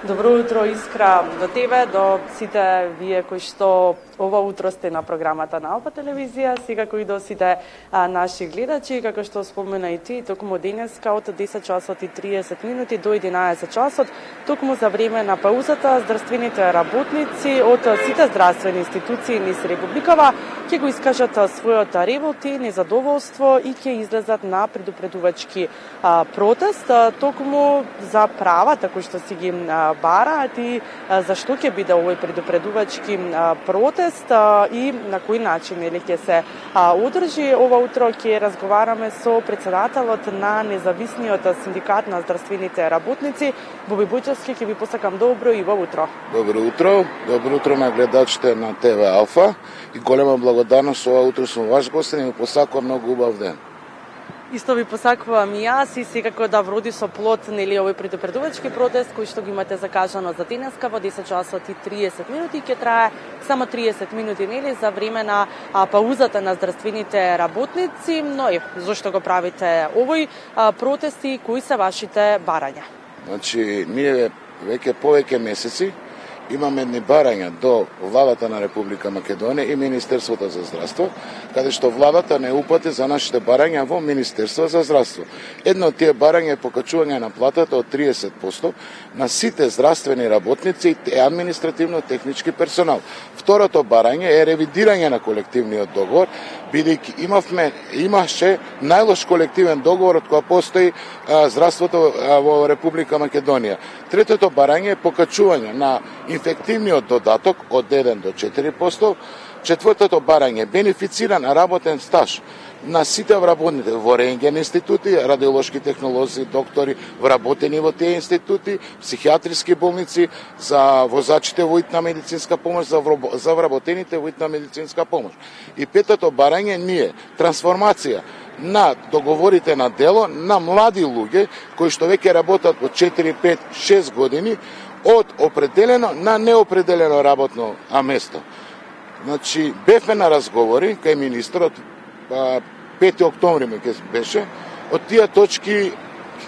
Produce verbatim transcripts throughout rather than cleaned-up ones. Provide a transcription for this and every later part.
Добро утро, Искра, до тебе, до сите вие кои што ова утро сте на програмата на Алфа телевизија, секако и до сите а, наши гледачи, како што спомена и ти, токму денеска од десет часот и триесет минути до единаесет часот, токму за време на паузата, здравствените работници од сите здравствени институции низ Републикава ќе го искажат својот револт и незадоволство и ќе излезат на предупредувачки а, протест, а, токму за правата кои што си ги а, бараат и а, зашто ќе биде овој предупредувачки а, протест а, и на кој начин или ќе се а, одржи. Ова утро ќе разговараме со председателот на независниот синдикат на здравствените работници Боби Бојчевски. Ќе ви посакам добро и во утро. Добро утро, добро утро на гледачите на ТВ Алфа и голема благодарност ова утро сум ваш гостин и ми посакувам многу убав ден. Исто ви посакувам и јас и секако да вроди со плод нели овој предупредувачки протест кој што го имате закажано за денеска во десет часот и триесет минути, ќе трае само триесет минути нели за време на а, паузата на здравствените работници. Но е, зошто го правите овој а, протест и кои се вашите барања? Значи, ние веќе повеќе месеци имаме едни барања до владата на Република Македонија и Министерството за здравство, каде што владата не упати за нашите барања во Министерство за здравство. Едно од тие барања е покачување на платата од триесет проценти на сите здравствени работници и административно-технички персонал. Второто барање е ревидирање на колективниот договор, бидејќи имавме имаше најлош колективен договор од која постои а, здравството а, во Република Македонија. Третото барање е покачување на инфективниот додаток од еден до четири проценти. Четвртото барање бенефициран работен стаж на сите вработените во рентген институти, радиолошки технолози, доктори вработени во тие институти, психијатриски болници, за возачите во итна медицинска помош, за, за вработените во итна медицинска помош. И петото барање ние трансформација на договорите на дело на млади луѓе кои што веќе работат по четири, пет, шест години од определено на неопределено работно место. Значи, бевме на разговори кај министерот, пети октомври ме ке беше, од тие точки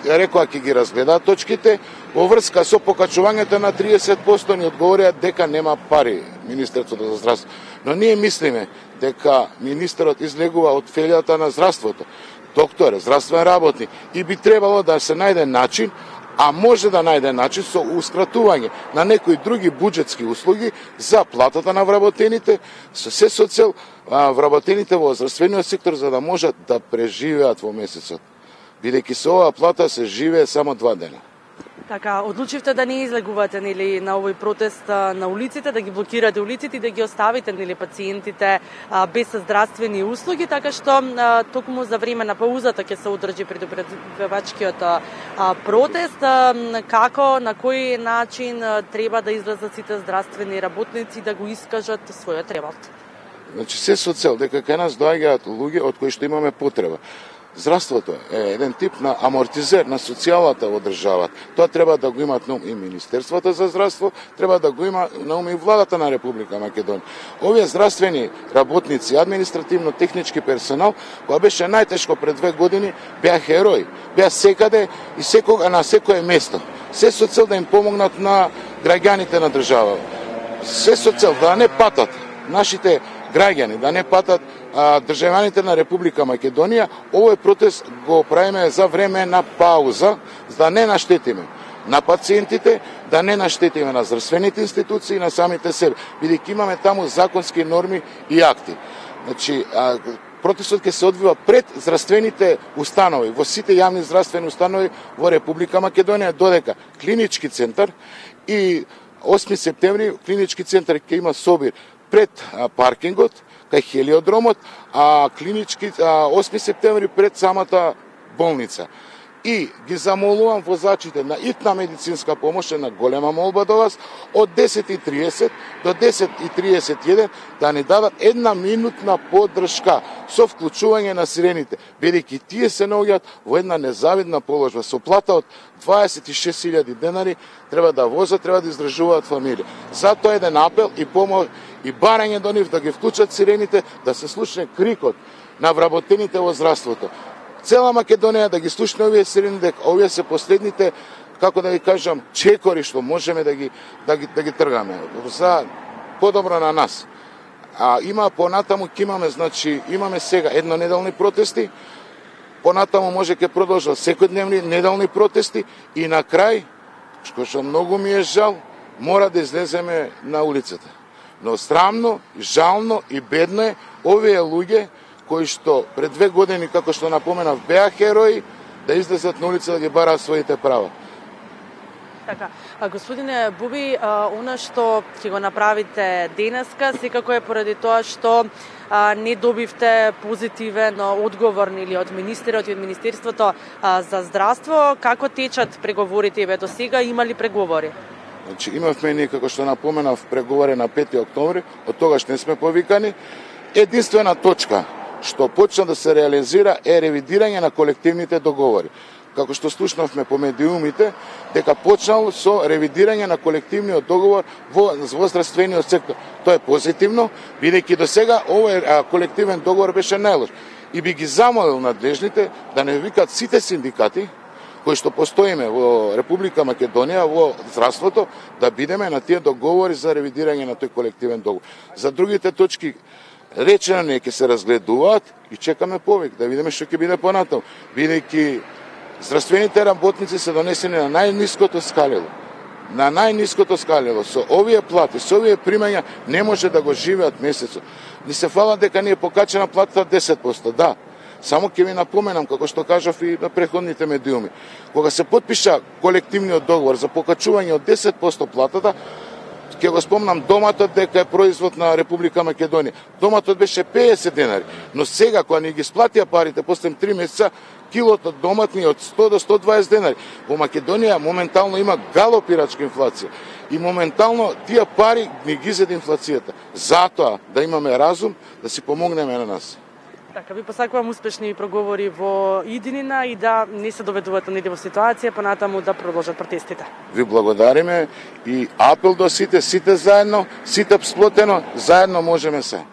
рекоа ќе ги разгледаат точките во врска со покачувањето на триесет проценти, ни одговорија дека нема пари Министерството за здравство. Но ние мислиме дека министерот излегува од фелјата на здравството, доктор, здравствен работник, и би требало да се најде начин, а може да најде начин со ускратување на некои други буџетски услуги за платата на вработените, со се со цел вработените во здравствениот сектор за да можат да преживеат во месецот. Бидејќи со оваа плата се живее само два дена. Така, одлучивте да не излегувате нели на овој протест на улиците, да ги блокирате улиците и да ги оставите нели пациентите а, без здравствени услуги, така што а, токму за време на паузата ќе се одржи предупредувачкиот протест. А, како, на кој начин а, треба да излезат сите здравствени работници да го искажат својот револт? Значи, се со цел дека кај нас доаѓаат луѓе од кои што имаме потреба. Здравството е еден тип на амортизер на социјалата во државата. Тоа треба да го имат на ум и Министерството за здравство, треба да го има на ум и владата на Република Македонија. Овие здравствени работници, административно-технички персонал, која беше најтешко пред две години, беа херои, беа секаде и секога на секое место. Се со цел да им помогнат на граѓаните на државата. Се со цел да не патат нашите граѓани, да не патат а, државјаните на Република Македонија. Овој протест го правиме за време на пауза, за да не наштетиме на пациентите, да не наштетиме на здравствените институции и на самите себе, бидејќи имаме таму законски норми и акти. Значи, а, протестот ќе се одвива пред здравствените установи, во сите јавни здравствени установи во Република Македонија, додека клинички центар и осми септември клинички центар ќе има собир пред а, паркингот, кај хелиодромот, а клинички а, осми септември пред самата болница. И ги замолувам возачите на итна медицинска помош, на голема молба до вас, од десет и триесет до десет и триесет и еден да ни дадат една минутна поддршка со вклучување на сирените, бидејќи тие се наоѓаат во една незавидна положба. Со плата од дваесет и шест илјади денари треба да возат, треба да издржуваат фамилија. Затоа еден апел и помош и барање до нив да ги вклучат сирените, да се слушне крикот на вработените во здравството. Цела Македонија да ги слушне овие сирени, дека овие се последните како да ги кажам, чекори што можеме да ги да ги да ги тргаме за подобро на нас. А има понатаму ќе имаме, значи имаме сега еднонеделни протести, понатаму може ќе продолжат секојдневни неделни протести и на крај, што многу ми е жал, мора да излеземе на улицата. Но срамно, жално и бедно е овие луѓе кои што пред две години, како што напоменав, беа херои, да излезат на улица да ги бараат своите права. Така, а господине Буби, а, она што ќе го направите денеска, секако е поради тоа што а, не добивте позитивен одговор или од министерот и од Министерството а, за здравство. Како течат преговорите еве до сега, има ли преговори? Значи, имавме ние, како што напоменав, преговори на пети октомври, од тогаш не сме повикани. Единствена точка што почна да се реализира е ревидирање на колективните договори. Како што слушнавме по медиумите, дека почнал со ревидирање на колективниот договор во, во здравствениот сектор. Тоа е позитивно, бидејќи до сега овој колективен договор беше најлош. И би ги замолил надлежните да не викат сите синдикати кои што постоиме во Република Македонија во здравството, да бидеме на тие договори за ревидирање на тој колективен договор. За другите точки речено не ќе се разгледуваат и чекаме повик да видиме што ќе биде понатаму, бидејќи здравствените работници се донесени на најниското скалело. На најниското скалело. Со овие плати, со овие примања не може да го живеат месецот. Ни се фала дека ни е покачена платата десет проценти. Да, само ќе ви напоменам, како што кажав и на преходните медиуми. Кога се потпиша колективниот договор за покачување од десет проценти платата, ќе го спомнам доматот дека е производ на Република Македонија. Доматот беше педесет денари, но сега кога ни ги сплатија парите после три месеца, килото домат ни од сто до сто дваесет денари. Во Македонија моментално има галопирачка инфлација и моментално тие пари ни ги зеде инфлацијата. Затоа да имаме разум да си помогнеме на нас. Така, ви посакувам успешни проговори во иднина и да не се доведуваат на во ситуација, понатаму да продолжат протестите. Ви благодариме и апел до сите, сите заедно, сите сплотено, заедно можеме се.